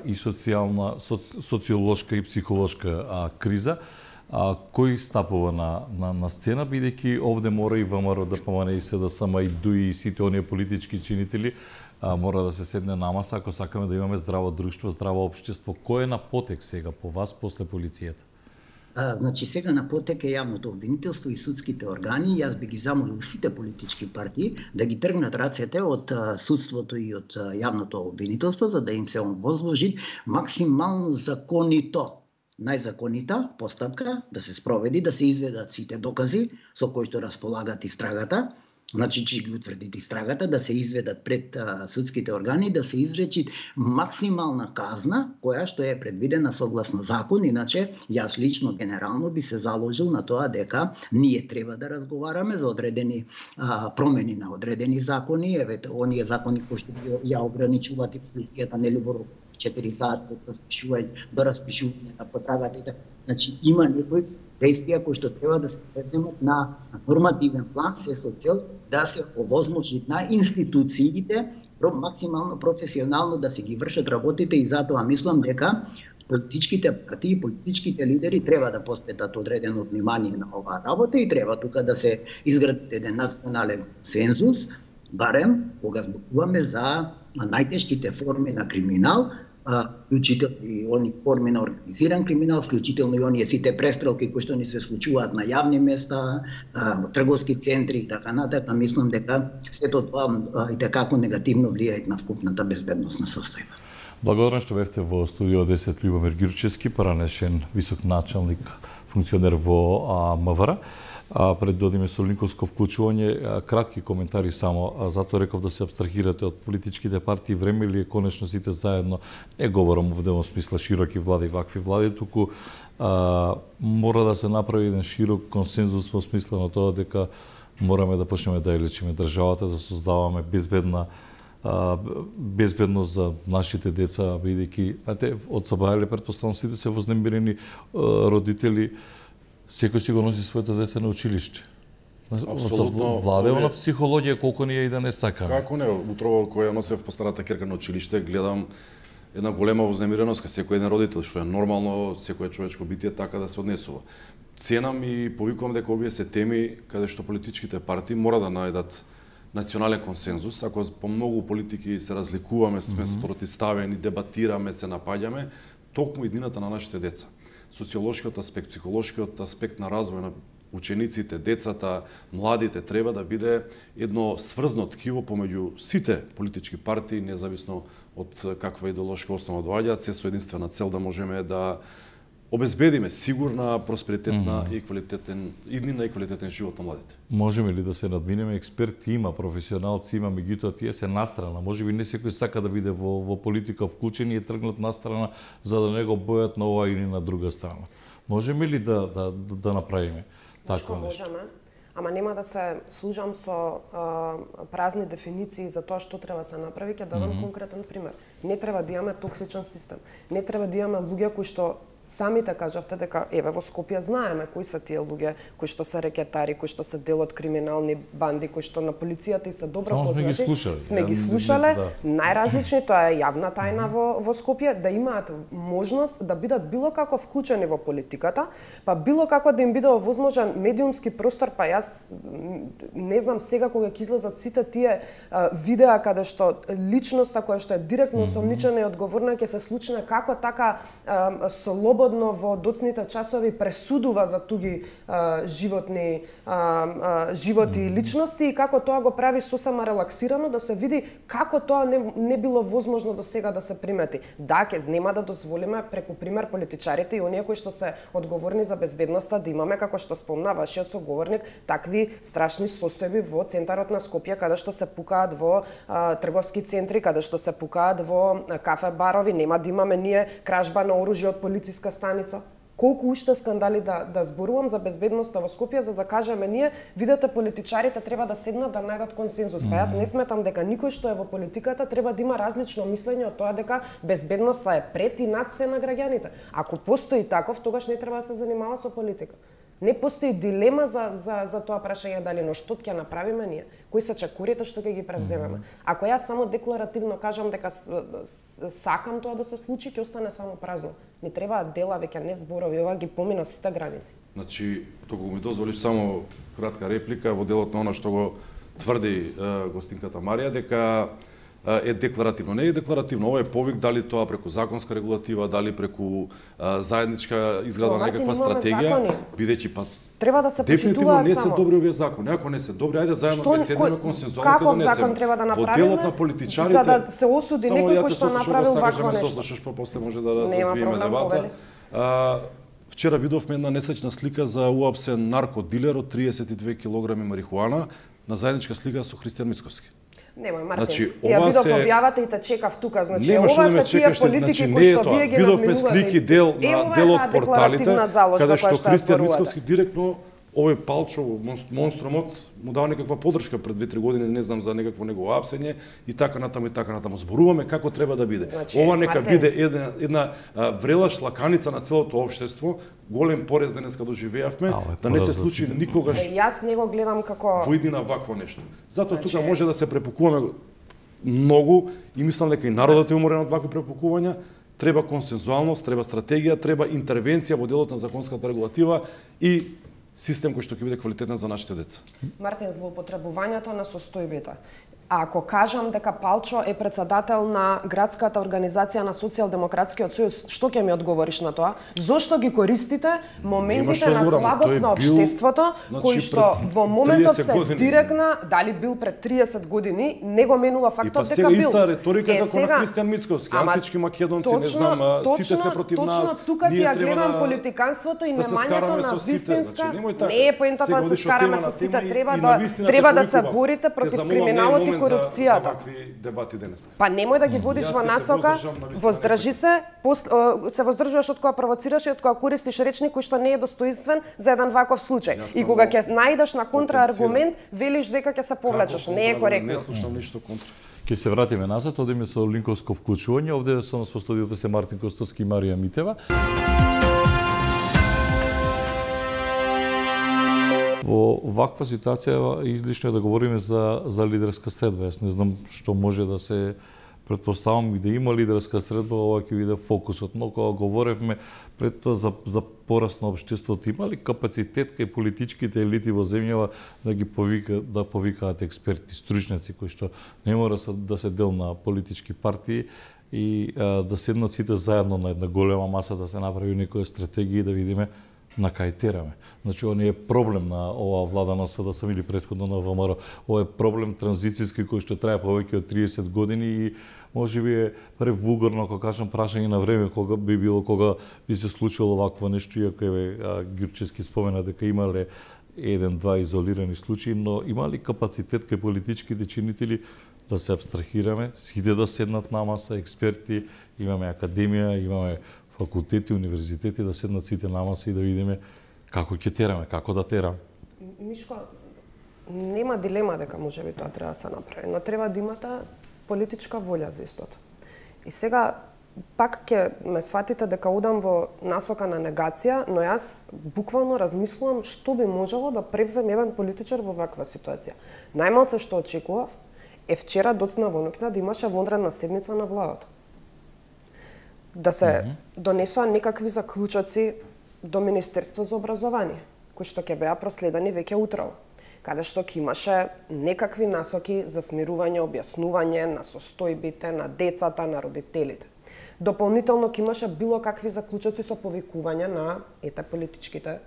и социјална, социолошка и психолошка криза, кој стапува на сцена, бидејќи овде мора и ВМРО ДПМН и СДСМ и ДУИ и сите оние политички чинители мора да се седне на маса ако сакаме да имаме здраво друштво, здраво општество. Кој е на потек сега по вас после полицијата? Значи сега на потек е јавното обвинителство и судските органи. Јас би ги замолил сите политички партии да ги тргнат рацете од судството и од јавното обвинителство, за да им се возложи максимално законито, најзаконита постапка да се спроведи, да се изведат сите докази со кои што располагат истрагата, значи че ги утврдите истрагата, да се изведат пред судските органи, да се изречи максимална казна, која што е предвидена согласно закон. Иначе, јас лично генерално би се заложил на тоа дека ние треба да разговараме за одредени промени на одредени закони, еве оние закони кои што ја ограничуваат и полицијата нели во 4 сати до распишување на потрагата. Значи има некои действија кои што треба да се преземат на нормативен план, се со цел да се овозможи на институциите максимално професионално да се ги вршат работите, и затоа мислам дека политичките партии, политичките лидери треба да посветат одредено внимание на оваа работа и треба тука да се изгради еден национален консензус, барем кога зборуваме за најтешките форми на криминал, вклучително и они форми на организиран криминал, вклучително и оние сите престрелки кои што ни се случуваат на јавни места, трговски центри и така натаму, мислам дека сето тоа и како негативно влијаат на вкупната безбедносна состојба. Благодарам што бевте во студио 10 Љубомир Ѓурчевски, поранешен висок началник, функционер во МВР. Пред да одиме со линковско вклучување, кратки коментари само, затоа реков да се абстрахирате од политичките партии, време ли е конечно сите заедно, не говорам овде во смисла широки влади, вакви влади, туку мора да се направи еден широк консензус во смисла на тоа дека мораме да почнеме да ја лечиме државата, да создаваме безбедност за нашите деца, бидејќи, знаете, од Сабајле претпоставам сите се вознемирени родители, секој си го носи своето дете на училиште. Апсолутно. Владево на психологија колку ние и да не сакаме. Како не, утрово која носев по старата керка на училиште, гледам една голема вознемиреност кај секој еден родител, што е нормално, секое човечко битие така да се однесува. Ценам и повикувам дека овие се теми каде што политичките партии мора да најдат национален консензус. Ако по многу политики се разликуваме, сме спротивставени, дебатираме, се напаѓаме, токму иднината на нашите деца. Социолошкиот аспект, психолошкиот аспект на развој на учениците, децата, младите треба да биде едно сврзно ткиво помеѓу сите политички партии, независно од каква идеолошка основа доаѓаат, се со единствена цел да можеме да обезбедиме сигурна, просперитетна и иднина и квалитетен живот на младите. Можеме ли да се надминеме? Експерти има, професионалци има, меѓутоа тие се настрана. Можеби не секој сака да биде во политика вклучен и е тргнат настрана за да не го бојат на ова или на друга страна. Можеме ли да направиме такво нешто? Можеме, ама нема да се служам со празни дефиниции за тоа што треба да се направи. Ќе дадам конкретен пример. Не треба да имаме токсичен систем. Не треба да имаме луѓе кои што самите кажавте дека еве во Скопје знаеме кои се тие луѓе кои што се рекетари, кои што се дел од криминални банди, кои што на полицијата и се добро познати. Сме ги слушале, најразлични, тоа е јавна тајна во Скопје, да имаат можност да бидат било како вклучени во политиката, па било како да им биде овозможен медиумски простор, па јас не знам сега кога ќе излезат сите тие видеа каде што личноста која што е директно осомничена и одговорна ќе се случне како така слободно во доцните часови пресудува за туги животи и личности и како тоа го прави сосема релаксирано да се види како тоа не било возможно до сега да се примети. Да, нема да дозволиме преку пример политичарите и оние кои што се одговорни за безбедноста да имаме, како што спомна вашиот соговорник, такви страшни состојби во центарот на Скопје каде што се пукаат во трговски центри, каде што се пукаат во кафе барови, нема да имаме ние кражба на оружје од полициска станица. Колку уште скандали да зборувам за безбедноста во Скопје за да кажеме ние, видете политичарите треба да седнат да најдат консензус. Па јас не сметам дека никој што е во политиката треба да има различно мислење од тоа дека безбедноста е пред и над се на граѓаните. Ако постои таков, тогаш не треба да се занимава со политика. Не постои дилема за тоа прашање дали но што ќе направиме ние, кои се чекорите што ќе ги превземеме. Ако јас само декларативно кажам дека сакам тоа да се случи, ќе остане само празно. Не треба дела, веќе не зборови, ова ги помина сите граници. Значи, току ми дозволиш само кратка реплика во делот на она што го тврди гостинката Марија, дека е декларативно. Не е декларативно, ова е повик дали тоа преку законска регулатива, дали преку заедничка изграда на некаква стратегија, бидејќи па треба да се дефинитивно почитуваат не се само. добри овие закони. Ако не се добри, ајде заедно да седнеме консензуално да Каков донесеме. закон треба да Во направиме делот на политичарите, за да се осуди некој кој што направил вакво нешто. нешто? Слушаш, па после може да развиеме дебата. Вчера видовме една несечна слика за уапсен наркодилер од 32 кг марихуана на заедничка слика со Христијан Мицковски. Немој, Мартин, Значи, ти ја видов објавата и те чекав тука, значи ова се тие политики кои што вие ги надминувате. Видовме слики дел од порталите, каде што Христијан Мицковски директно овој Палчо, монструмот, му дава некаква подршка пред 2-3 години, не знам за некакво негово апсење и така натаму зборуваме како треба да биде. Значи, ова нека Мартин, биде една врелаш лаканица на целото општество, голем порез денеска доживеавме, да не се случи никогаш. Јас не го гледам како во иднина вакво нешто. Затоа тука може да се препукуваме многу и мислам дека и народот е уморен од вакви препукувања. Треба консензуалност, треба стратегија, треба интервенција во делот на законската регулатива и систем кој што ќе биде квалитетен за нашите деца. Мартин, злоупотребувањето на состојбите. А ако кажам дека Палчо е председател на градската организација на Социјалдемократскиот сојуз, што ќе ми одговориш на тоа? Зошто ги користите моментите на слабост на општеството, кои што во моментот се директна, дали бил пред 30 години, не го менува фактот дека бил. Па сега иста риторика како на Кристијан Мицковски, антички македонци, не знам, сите се против нас. Точно тука ти ја гледам политиканството и немањето на вистинска. Не е поентата да се скараме со сите, треба да се борите против криминалот и корупцијата. Па немој да ги водиш во насока, воздржи се воздржуваш од кога провоцираш и од кога користиш речник кој што не е достоинствен за еден ваков случај. И кога ќе најдеш на контрааргумент, велиш дека ќе се повлечеш. Не е коректно. Не слушам ништо контра. Ќе се вратиме назад, одиме со линковско вклучување. Овде со нас во студиото се Мартин Костовски и Марија Митева. Во ваква ситуација излишно е да говориме за лидерска средба. Јас не знам што може да се предпоставам и да има лидерска средба, ова ќе биде фокусот. Но кога говоревме пред тоа за пораст на општеството, има ли капацитет кај политичките елити во земјава да повикаат експерти, стручњаци кои што не мора да се дел на политички партии и да седнат сите заедно на една голема маса, да се направи некоја стратегија и да видиме на кај тераме. Значи, ова не е проблем на оваа влада на СДСМ или претходно на ВМРО. Ова е проблем транзицијски кој што трае повеќе од 30 години и можеби е превулгарно, ако кажам, прашање на време кога би се случило вакво нешто, иако Ѓурчевски спомена дека имале еден-два изолирани случаи, но има ли капацитет кај политичките чинители да се абстрахираме, сите да седнат на маса, експерти, имаме академија, имаме факултети, универзитети, да седнат сите на маса и да видиме како ќе тераме, како да тераме. Мишко, нема дилема дека можеби тоа треба да се направи, но треба да имате политичка волја за истото. И сега пак ќе ме сватите дека одам во насока на негација, но јас буквално размислувам што би можело да превземе еден политичар во ваква ситуација. Најмалце што очекував е вчера доцна во ноќна да имаше вонредна седница на владата. Да се донесоа некакви заклучоци до Министерство за образование, кои што ќе беа проследени веќе утрово, каде што ќе имаше некакви насоки за смирување, објаснување на состојбите на децата, на родителите. Дополнително ќе имаше било какви заклучоци со повикување на политичките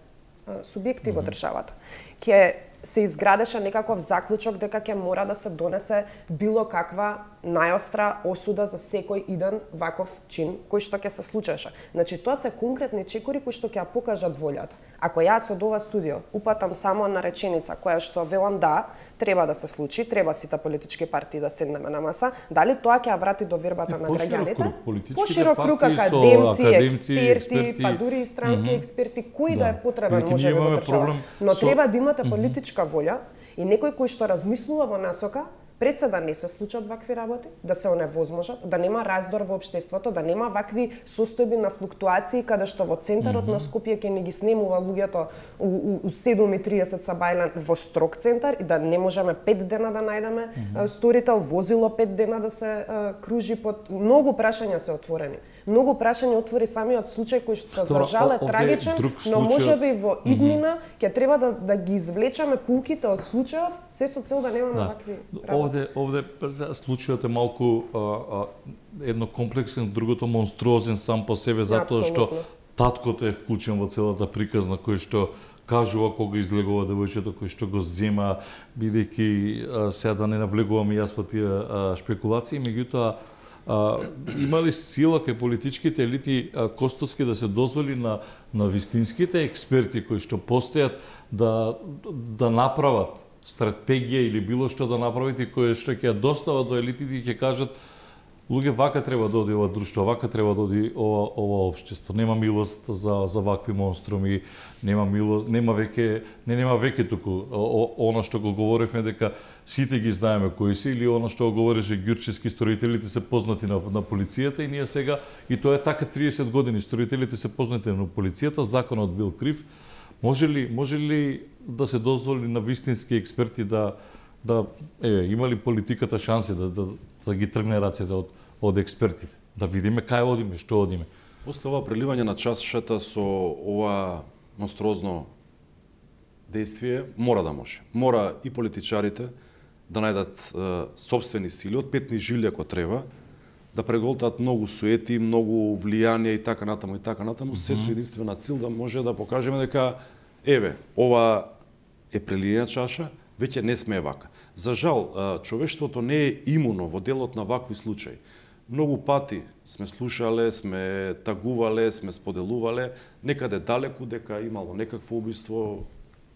субјекти во државата. Ќе се изградеше некаков заклучок дека ќе мора да се донесе било каква најостра осуда за секој иден ваков чин кој што ќе се случеше. Значи, тоа се конкретни чекори кои што ќе ја покажат волјата. Ако јас од ова студио упатам само на реченица која што велам да, треба да се случи, треба сите политички партии да седнеме на маса, дали тоа ќе ја врати до вербата на граѓаните? Поширок круг академци, експерти, па дури и странски експерти, кој да е потребен може во држава. Но треба да имате политичка волја и некој кој што размислува во насока пред се да не се случат вакви работи, да се оневозможат, да нема раздор во општеството, да нема вакви состојби на флуктуации каде што во центарот на Скопје ќе не ги снемува луѓето у 7:30 са бајлан во строг центар и да не можеме 5 дена да најдеме сторител, возило 5 дена да се кружи под многу прашања се отворени. Многу прашања отвори самиот случај кој што за жал е трагичен, но можеби во иднина ќе треба да ги извлечеме пулките од случајов, се со цел да немаме вакви работи. Овде случајот е малку едно комплексен, другото монструозен сам по себе, затоа што таткото е вклучен во целата приказна, кој што кажува кога излегува девојчето, кој што го зема, бидејќи сега да не навлегувам и јас во тие шпекулации, меѓутоа има ли сила кај политичките елити Костовски да се дозволи на вистинските експерти кои што постојат да направат стратегија или било што да направат и кои што ќе ја достават до елитите и ќе кажат луѓе, вака треба да оди ова друштво, вака треба да оди ова општество. Нема милост за вакви монструми, нема милост, нема веќе туку она што го говоревме дека сите ги знаеме кои се, или она што го говореше Ѓурчевски, строителите се познати на полицијата и ние сега, и тоа е така 30 години, строителите се познати на полицијата, законот бил крив. Може ли да се дозволи на вистински експерти има ли политиката шанси да ги тргне рацете од експертите? Да видиме кај одиме, што одиме. После ова преливање на чашата со ова монструозно действие, мора да може. Мора и политичарите да најдат собствени сили, од петни жилја ако треба, да преголтаат многу суети, многу влијанија и така натаму, се со единствена цел да може да покажеме дека еве, ова е прелиена чаша, веќе не сме вака. За жал, човештвото не е имуно во делот на вакви случаи. Многу пати сме слушале, сме тагувале, сме споделувале, некаде далеку дека имало некакво убиство,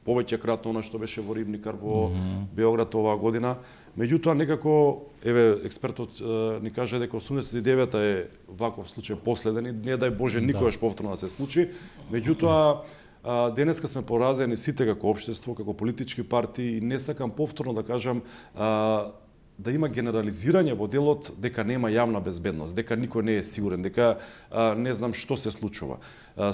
повеќе кратно она што беше во Рибникар во Београд оваа година. Меѓутоа некако, еве, експертот ни каже дека 89-та е ваков случај последен и не дај Боже никогаш повторно да се случи. Меѓутоа, денеска сме поразени сите како општество, како политички партии и не сакам повторно да кажам да има генерализирање во делот дека нема јавна безбедност, дека никој не е сигурен, дека не знам што се случува.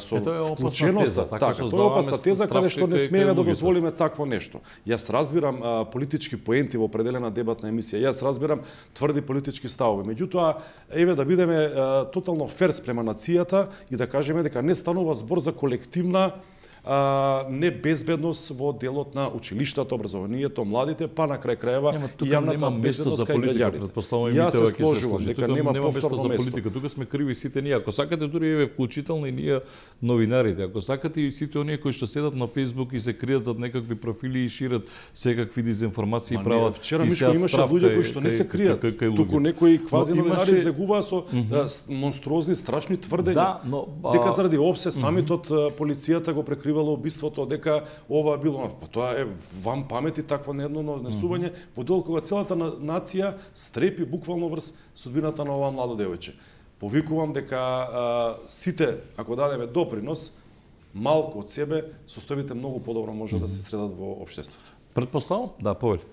Со вклученоста, тоа е опасна теза каде што не смееме да дозволиме такво нешто. Јас разбирам политички поенти во определена дебатна емисија, јас разбирам тврди политички ставови, меѓутоа еве да бидеме тотално фер спрема нацијата и да кажеме дека не станува збор за колективна небезбедност во делот на училиштата, образованието, младите, па на крај крајева и јавната безбедност кај граѓаните. Јас се сложувам дека нема повторно место. Тука сме криви сите ние. Ако сакате дури еве вклучително и ние новинарите, ако сакате и сите оние кои што седат на Facebook и се кријат зад некакви профили и шират секакви дезинформации прават. Вчера Мишко имаше луѓе кои што не се кријат, туку некои квази новинари излегуваа со монструозни страшни тврдења. Дека заради опсе самитот полицијата го прекривало убиството, дека ова било, па тоа е вам памети такво неедно несување во дел кога целата нација стрепи буквално врз судбината на ова младо девојче. Повикувам дека сите, ако дадеме допринос, малку од себе, состојбите многу подобро може да се средат во општеството. Претпоставам? Да, повели.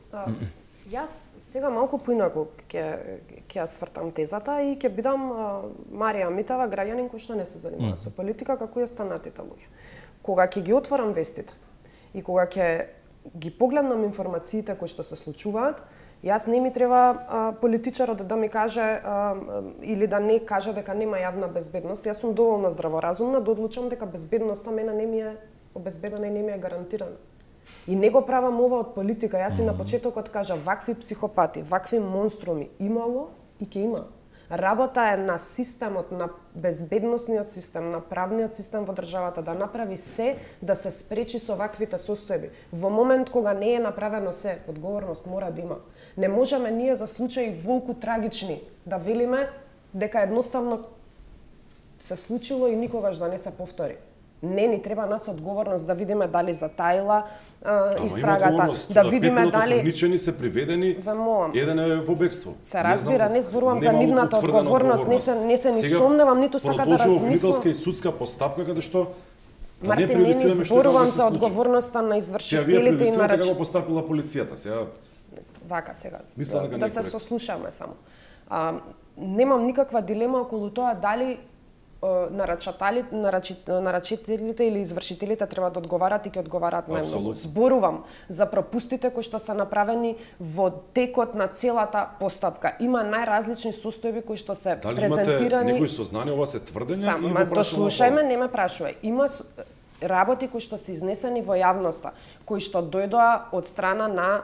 Јас сега малку поинаку ќе ја свртам тезата и ќе бидам Марија Митева, граѓанин кој што не се занимава со политика, како и останатите луѓе. Кога ќе ги отворам вестите и кога ќе ги погледнам информациите кои што се случуваат, јас не ми треба политичарот да ми каже или да не каже дека нема јавна безбедност. Јас сум доволно здраворазумна да одлучам дека безбедноста мене не ми е обезбедена и не ми е гарантирана. И не го правам ова од политика. Јас и на почетокот кажа, вакви психопати, вакви монструми имало и ќе има. Работа е на системот, на безбедносниот систем, на правниот систем во државата да направи се да се спречи со ваквите состојби. Во момент кога не е направено се, одговорност мора да има. Не можеме ние за случаи волку трагични да велиме дека едноставно се случило и никогаш да не се повтори. Не, ни треба нас одговорност да видиме дали затаила истрагата, да видиме дали осомничени се приведени, еден е во бегство. Се разбира, не зборувам за нивната одговорност, не се ни сомневам, ниту сака да размислам. Обвинителска и судска постапка каде што Марти, не ни зборувам за одговорноста на извршителите и на како постапила полицијата, сега. Вака сега. Да се сослушаме само. Немам никаква дилема околу тоа дали нарачителите или извршителите треба да одговарат и ќе одговарат најмногу. Зборувам за пропустите кои што се направени во текот на целата постапка. Има најразлични состојби кои што се презентирани. Дали имате некои сознание, ова се тврдења или го дослушајме, не ме прашувај. Има работи кои што се изнесени во јавноста, кои што дојдоа од страна на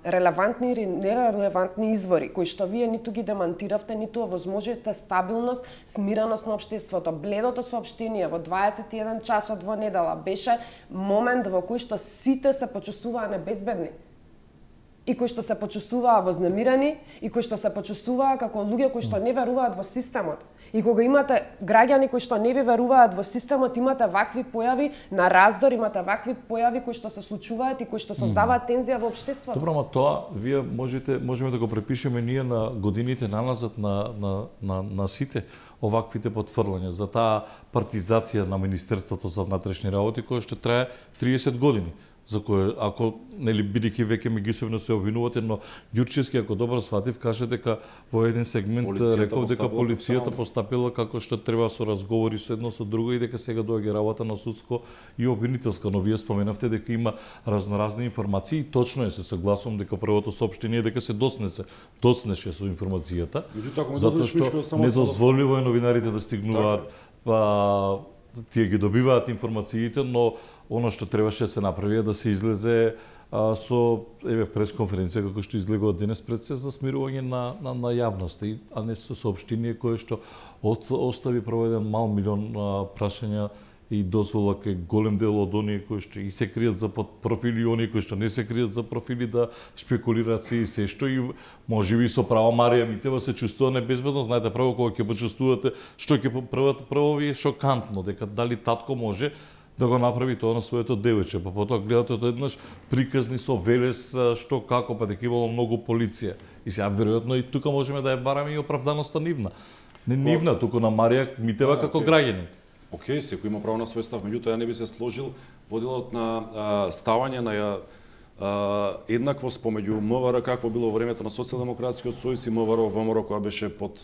релевантни или нерелевантни извори, кои што вие ниту ги демантиравте, ниту овозможите стабилност, смиреност на општеството. Бледото соопштение во 21 часот во недела беше момент во кој што сите се почувствуваа небезбедни. И кои што се почувствуваа вознемирени, и кои што се почувствуваа како луѓе кои што не веруваат во системот. И кога имате граѓани кои што не ви веруваат во системот, имате вакви појави на раздор, имате вакви појави кои што се случуваат и кои што создаваат тензија во општеството. Добро, ама тоа вие можеме да го препишеме ние на годините наназад на сите оваквите потврлања за таа партизација на Министерството за внатрешни работи која што трае 30 години. За кој, ако, нели, бидејќи веќе меѓусебно се обвинувате, но Ѓурчевски, ако добро сватив, каже дека во еден сегмент реков дека полицијата постапила како што треба со разговори со едно со друго и дека сега доаѓа работа на судско и обвинителска, но вие споменавте дека има разноразни информации и точно е, се согласувам дека првото соопштение дека се доснеше со информацијата, затоа што недозволиво е новинарите да стигнуваат, тие ги добиваат информациите, но она што требаше да се направи е да се излезе со пресконференција како што излегува денес пред се за смирување на јавноста, а не со соопштение кое што остави прво 1 милион прашања и дозвола кај голем дел од оние кои што и се кријат за профили и оние кои што не се кријат за профили да шпекулираат се и се што и можеби со право Марија Митева се чувствува небезбедно. Знаете, прво кога ќе почувствувате што ќе прво ви е шокантно дека дали татко може да го направи тоа на своето девојче, па потоа гледате одеднаш приказни со Велес што како па дека имало многу полиција. И сега веројатно и тука можеме да ја бараме и оправданоста нивна. Не нивна, туку на Марија Митева како граѓанин. Океј, секој има право на свој став, меѓутоа ја не би се сложил во делот на ставање на еднаквост помеѓу МВР какво било во времето на Социјалдемократскиот сојуз и МВР ВМРО која беше под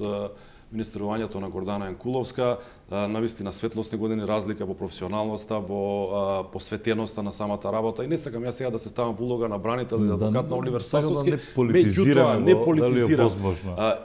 министерувањето на Гордана Јанкуловска, навистина светлосни години разлика во професионалноста, во посветеноста на самата работа. И не сакам јас сега да се ставам во улога на бранител или адвокат на Оливер Сасовски, меѓутоа не политизирам.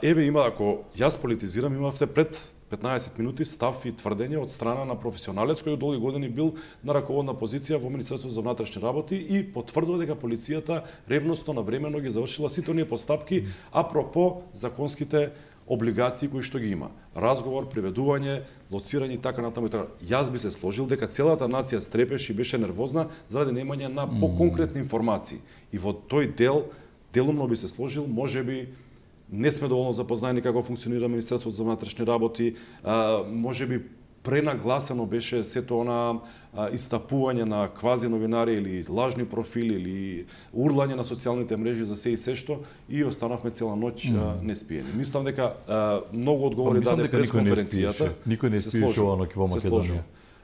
Еве има, ако јас политизирам, имавте пред 15 минути став и тврдење од страна на професионалец кој долги години бил на раководна позиција во Министерството за внатрешни работи и потврдува дека полицијата ревносно навремено ги завршила сите оние постапки апропо законските облигации кои што ги има. Разговор, приведување, лоцирање и така натаму и така. Јас би се сложил дека целата нација стрепеше и беше нервозна заради немање на поконкретни информации. И во тој дел делумно би се сложил, можеби не сме доволно запознаени како функционира Министерството за внатрешни работи, можеби пренагласено беше сето она истапување на квази новинари или лажни профили или урлање на социјалните мрежи за се и се што и останавме цела ноќ неспиени. Мислам дека многу одговори даде пресконференцијата. Никој не спиеше ова ноќ во Македонија.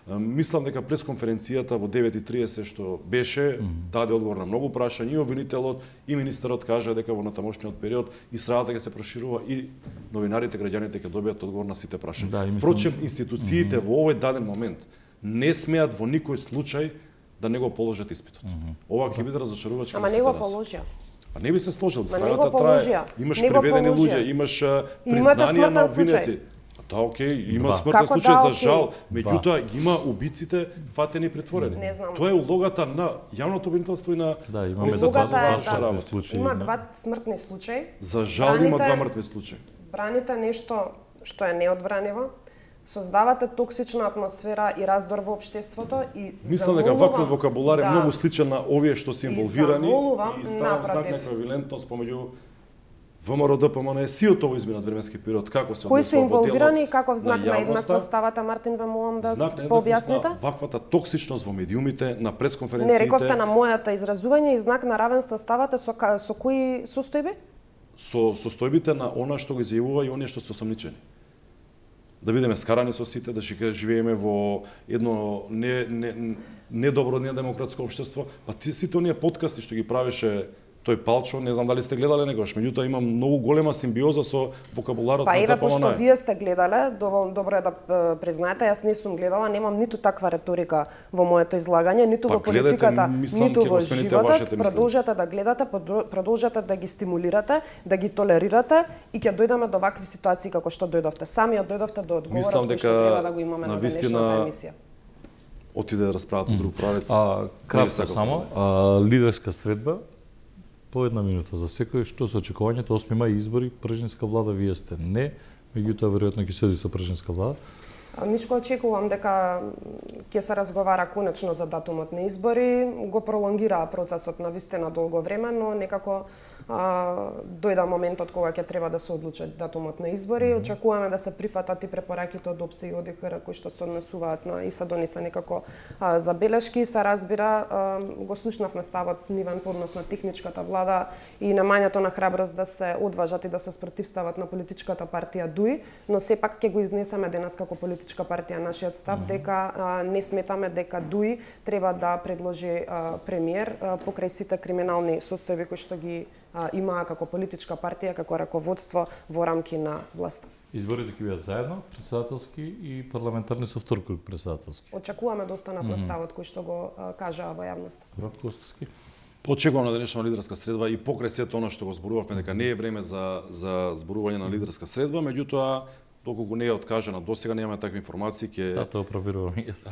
Мислам дека пресконференцијата во 9:30 што беше даде одговор на многу прашања и обвинителот и министерот кажа дека во натамошниот период истрагата ќе се проширува и новинарите, граѓаните ќе добијат одговор на сите прашања. Впрочем, институциите во овој даден момент не смеат во никој случај да не го положат испитот. Ова ќе биде разочарувачки. Ама не го положија. А не би се сложил, страната трае. Имаш приведени луѓе, имаш признание на обвинети. Да, окей, има смртен случај за жал, меѓутоа има убиците фатени и притворени. Тоа е улогата на јавното обвинителство и на два случаи. Има два смртни случаи. За жал има два мртви случаи. Браните нешто што е неодбраниво, создавате токсична атмосфера и раздор во општеството и мислам дека ваквиот вокабулар е многу сличен на овие што се инволвирани и ставам знак на еквивалентност помеѓу ВМРО ДПМН сиот овој изминат временски период како се кои се инволвирани и каков знак на еднаквост ставате, Мартин, ве молам да пообјасните? Ваквата токсичност во медиумите, на пресконференциите. Не рековте на мојата изразување и знак на равенство ставате со кои состојби? Со состојбите на она што го изјавува и оние што се осомничени. Да бидеме скарани со сите, да живееме во едно недобро, недемократско општество, па сите оние подкасти што ги правеше тој Палчо, не знам дали сте гледале негош, меѓутоа има многу голема симбиоза со вокабуларот на ДПМН. Па еве, пошто вие сте гледале, доволно добро е да признаете, јас не сум гледала, немам ниту таква реторика во моето излагање, ниту во политиката, ниту во животот. Продолжете да гледате, продолжете да ги стимулирате, да ги толерирате и ќе дојдеме до вакви ситуации како што дојдовте. Самиот дојдовте до одговорот кој што треба да го имаме на денешната емисија. Отиде да расправат во друг правец. Кратко само, лидерска средба. По една минута за секој, што се очекувањето 8 мај избори, пржинска влада вие сте не, меѓутоа веројатно ќе седи со пржинска влада. Нишко очекувам дека ќе се разговара конечно за датумот на избори, го пролонгираа процесот на вистина долго време, но некако дојда моментот кога ќе треба да се одлучи датумот на избори. Очекуваме да се прифатат и препораките од ОПСЕ и ОДХР кои што се однесуваат на и се донесе некако забелешки, се разбира, го слушнавме ставот нивен по однос на техничката влада и намањето на храброст да се одважат и да се спротивстават на политичката партија ДУИ, но сепак ќе го изнесеме денес како политичка партија нашиот став дека не сметаме дека ДУИ треба да предложи премиер покрај сите криминални состојби кои што ги имаа како политичка партија, како раководство во рамки на власта. Изборите ќе бидат заедно, претседателски и парламентарни со втор круг претседателски. Очекуваме да останат на ставот кој што го кажаа во јавноста. Рок Костовски. Очекувам на денешна лидерска средба и покрај сето она што го зборувавме дека не е време за зборување на лидерска средба, меѓутоа доколку не е откажана досега, немаме такви информации, ќе тоа проверувам јас.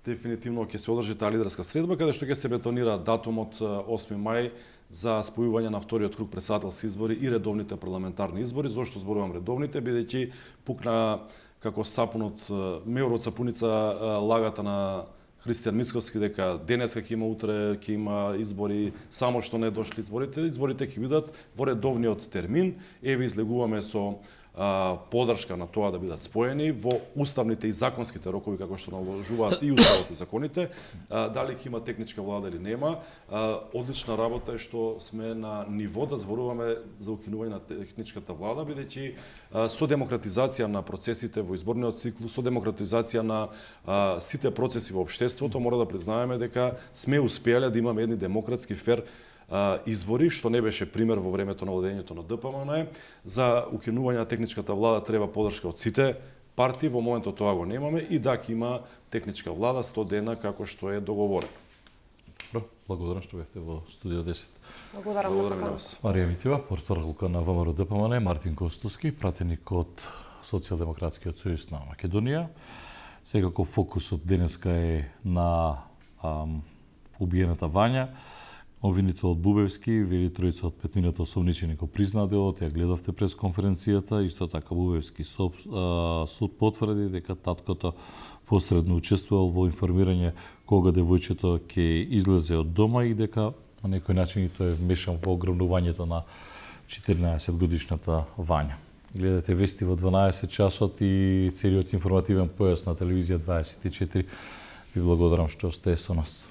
дефинитивно ќе се одржи таа лидерска средба, каде што ќе се бетонира датумот 8 мај за спојување на вториот круг претседателски избори и редовните парламентарни избори. Зошто зборувам редовните? Бидејќи пукна како сапунот, меор од сапуница лагата на Христијан Мицковски дека денеска ќе има, утре ќе има избори, само што не дошли изборите. Изборите ќе бидат во редовниот термин. Еве излегуваме со поддршка на тоа да бидат споени во уставните и законските рокови како што наложуваат и уставот и законите. Дали ќе има техничка влада или нема, одлична работа е што сме на ниво да зборуваме за укинување на техничката влада, бидејќи со демократизација на процесите во изборниот циклус, со демократизација на сите процеси во општеството, мора да признаеме дека сме успеале да имаме едни демократски фер избори, што не беше пример во времето на владењето на ДПМН. За укинување на техничката влада треба поддршка од сите партии, во моментот тоа го немаме и да ќе има техничка влада 100 дена како што е договорено. Добро, благодарам што бевте во студио 10. Благодарам на вас. Марија Митева, портparolка на ВМРО ДПМН, Мартин Костовски, пратеник од Социјалдемократскиот сојуз на Македонија. Секако фокусот денеска е на убиената Вања. Обвинител од Бубевски, вели тројца од петнината осомничени го признаа делот, ја гледавте прес конференцијата, исто така Бубевски суд потврди дека таткото посредно учествувал во информирање кога девојчето ќе излезе од дома и дека на некој начин и тој е вмешан во ограбувањето на 14 годишната Вања. Гледате вести во 12 часот и целиот информативен појас на телевизија 24. Ви благодарам што сте со нас.